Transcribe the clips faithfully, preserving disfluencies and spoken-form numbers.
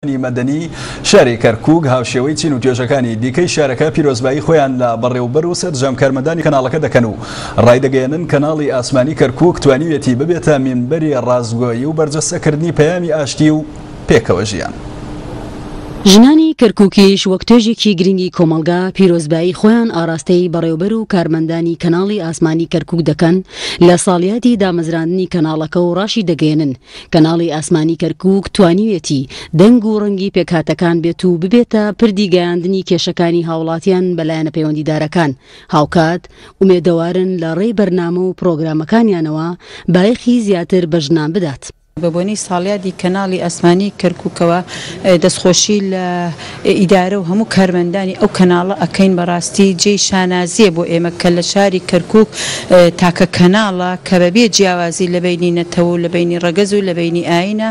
مەدەنی شاری کەرکووک هاوشێوەی چین و توێژەکانی دیکەی شارەکە پیرۆزبایی خۆیان لە بەڕێوبەر و سەرجەم کارمەندانی کەناڵەکە دەکەن و ڕایدەگەیەنن کەناڵی ئاسمانی کەرکووک توانیویەتی ببێتە مینبەری ڕاستگۆیی و بەرجەستەکردنی پەیامی ئاشتی و پێکەوە ژیان. ژنانی کەرکووکیش وەک توێژێکی گرنگی کۆمەڵگا پیرۆزبایی خۆیان ئاراستەی بەڕێوبەر و کارمەندانی کەناڵی ئاسمانی کەرکووک دەکەن لە ساڵیادی دامەزراندنی کەناڵەکە و ڕاشی دەگەیەنن کەناڵی ئاسمانی کەرکووک توانیویەتی دەنگ و ڕەنگی پێکهاتەکان بێت و ببێتە پردی گەیاندنی کێشەکانی هاوڵاتیان بە لایەنە پەیوەندیدارەکان. هاوکات ئومێدەوارن لە ڕێی بەرنامە و پرۆگرامەکانیانەوە بایەخی زیاتر بە ژنان بدات. بە بۆنەی ساڵیادی کەناڵی ئاسمانی کەرکووکەوە دەستخۆشی لە ئیدارە و هەموو کارمەندانی ئەو کەناڵە ئەکەین. بەڕاستی جێی شانازیە بۆ ئێمە کە لە شاری کەرکووک تاکە کەناڵە کە بەبێ جیاوازی لە بەینی نەتەوە و لە بەینی ڕەگەز و لە بەینی ئاینە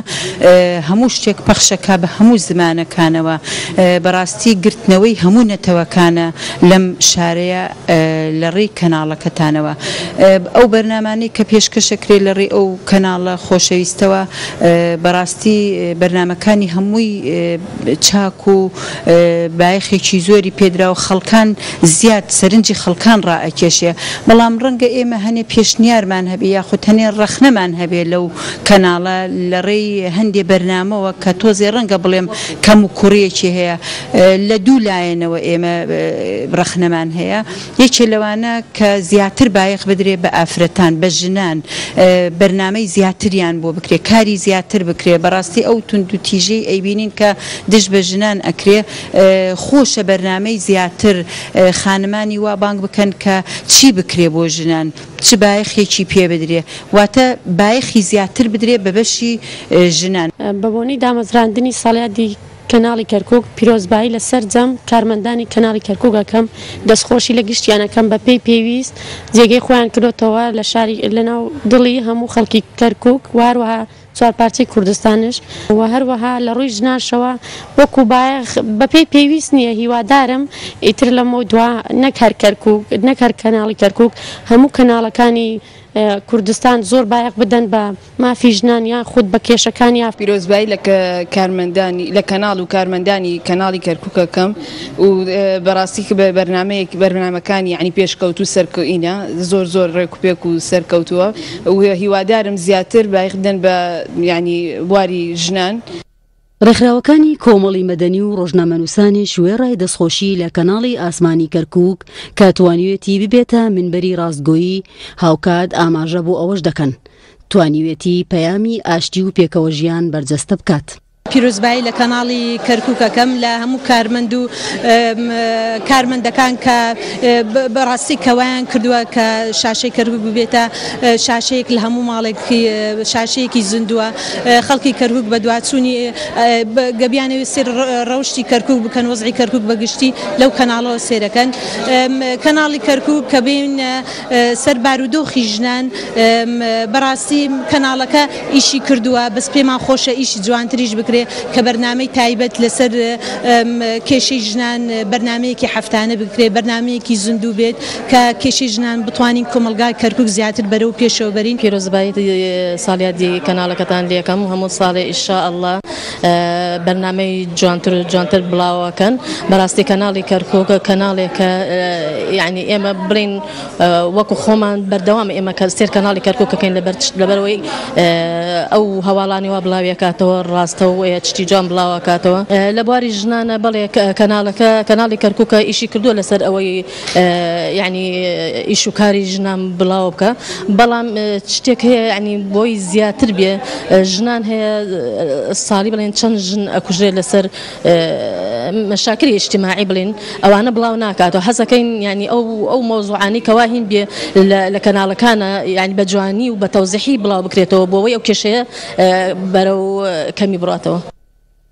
هەموو شتێک پەخشەکە بە هەموو زمانەکانەوە. بەڕاستی گرتنەوەی هەموو نەتەوەکانە لەم شارەیە لە ڕێی کەناڵەکەتانەوە. ئەو بەرنامانەی کە پێشکەشەکرێت لە ڕێی ئەو کەناڵە خۆشەویستەوە بەڕاستی بەرنامەکانی هەمووی چاک و بایەخێکی زۆری پێدرا و خەڵکان زیاد سەرنجی خەڵکان ڕائەکێشێ. بەڵام ڕەنگە ئێمە هەنێ پێشنیارمان هەبێ یاخود هەنێ ڕەخنەمان هەبێ لەو کەناڵە لە ڕێی هەندێ بەرنامەوە کە تۆزێ ڕەنگە بڵێم کەم و کوڕیەکی هەیە. لە دوو لایەنەوە ئێمە ڕەخنەمان هەیە. یەکێ لەوانە کە زیاتر بایەخ بدرێ بە ئافرەتان، بە ژنان، بەرنامەی زیاتریان بۆ بکرێ، کاری زیاتر بکرێ. بەڕاستی ئەو تونند و تیژەی ئەیبینین کە دژ بە ژنان ئەکرێ، خۆشە بەرنامەی زیاتر خانمانی وا بانگ بکەن کە چی بکرێ بۆ ژنان، چ بایەخێکی پێ بدرێ، واتە بایەخی زیاتر بدرێ بە بەشی ژنان. بە بۆنەی دامەزراندنی ساڵیادی کەناڵی کەرکووک پیرۆزبایی لە سەرجەم کارمەندانی کەناڵی کەرکووک ئەکەم، دەستخۆشی لە گشتیانەکەم بە پێی پێویست جێگەی خۆیان کردوتەوە لە شاری لەناو دڵی هەموو خەڵکی کەرکووک و هەروەها چوار پارچەی کوردستانش و هەروەها لە ڕووی ژنانشەوە وەکو بایەخ بەپێی پێویست نییە. هیوادارم ئیتر لەمەو دوا نەک هەر کەرکووک، نەک هەر کەناڵی کەرکووک، هەموو کەناڵەکانی کوردستان زۆر بایەخ بدەن بە مافی ژنان یان خود بە کێشەکان. یا پیرۆزبایی لە کارمەندانی لە کەناڵ و کارمەندانی کەناڵی کەرکووکەکەم و بەڕاستی کە بەرنامەیەک بەرنامەکانی یعنی پێشکەوت و سەرکەوینە زۆر زۆر ڕێکوپێک و سەرکەوتووە و هیوادارم زیاتر بایەخ بدەن بە یعنی بواری ژنان. ڕێکخراوەکانی کۆمەڵی مەدەنی و ڕۆژنامەنووسانیش وێڕای دەستخۆشی لە کەناڵی ئاسمانی کەرکووک کە توانیوێتی ببێتە منبەری ڕاستگۆیی، هاوکات ئاماژە بۆ ئەوەش دەکەن توانیوێتی پەیامی ئاشتی و پێکەوە ژیان بەرجەستە بکات. پیرۆزبایی لە کەناڵی کەرکووکەکەم لە هەموو کارمەند و کارمەندەکان کە بەڕاستی کەوایان کردووە کە شاشەی کەرکووک ببێتە شاشەیەک لە هەموو ماڵێک، شاشەیەکی زیندووە. خەڵکی کەرکووک بە دواچوونی گەبیانەوێت سێر ڕەوشی کەرکووک بکەن، وەزعی کەرکووک بەگشتی لەو کەناڵەوە سێرەکەن. کەناڵی کەرکووک کە بین سەر بارودۆخی ژنان، بەڕاستی کەناڵەکە ئیشی کردووە، بەس پێمان خۆشە ئیشی جوانتریش بکرێت کە بەرنامەی تایبەت لەسەر کێشەی ژنان بەرنمەیەکی هەفتانە بکرێت، بەرنمەیەکی زیندوو بێت کە کێشەی ژنان بتوانین کۆمەلگای کەرکووک زیاتر بەرەو پێشەوە بەرین. پیرۆزبایی ساڵیادی کەناڵەکەتان لێکەم و هەموو ساڵێ ئینشاءاللە بەرنامەی جوانتر و جوانتر بڵاوەکەن. بەڕاستی کەناڵی کەرکووک کەناڵێکە یعنی ئێمە بڵین وەکو خۆمان بەردەوام ئێمە کە سێر کەناڵی کەرکووکەکەین لەبەرەوەی ئەو هەواڵانی وا بڵاویەکاتەوە ڕاستە و شتی جوان بڵاوەکاتەوە. لە بواری ژنانە بەڵێ کەناڵەکە کەناڵی کەرکووکە ئیشی کردووە لەسەر ئەوەی یعنی ئیش و کاری ژنان بڵاو بکە، بەڵام شتێک هەیە یعنی بۆی زیاتر بێ ژنان هەیە ساڵی بڵێن چەند ژن ئەکوژرێت لەسەر مەشاکری ئیجتیماعی بڵێن ئەوانە بڵاو ناکاتەوە. حەزەکەین یعنی ئەو ئەو مەوزوعانەی کەوا هین بێ لە کەناڵەکانە یعنی بە جوانی و بە تەوزیحی بڵاو بکرێتەوە بۆ ئەوەی ئەو کێشەیە بەرەو کەمی بڕاتەوە.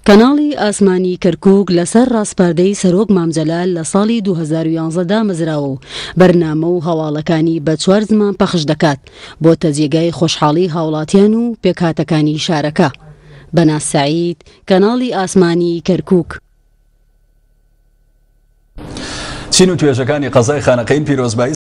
کەناڵی ئاسمانی کەرکووک لەسەر ڕاسپاردەی سەرۆک مام جەلال لە ساڵی دوو هەزار و یانزە دامەزراوە و بەرنامە و هەواڵەکانی بە چوار زمان پەخش دەکات، بۆتە جێگای خۆشحاڵی هاوڵاتیان و پێکهاتەکانی شارەکە. بەناز سعید، کەناڵی ئاسمانی کەرکووک. چین و توێژەکانی قەزای خانەقین پیرۆزبایی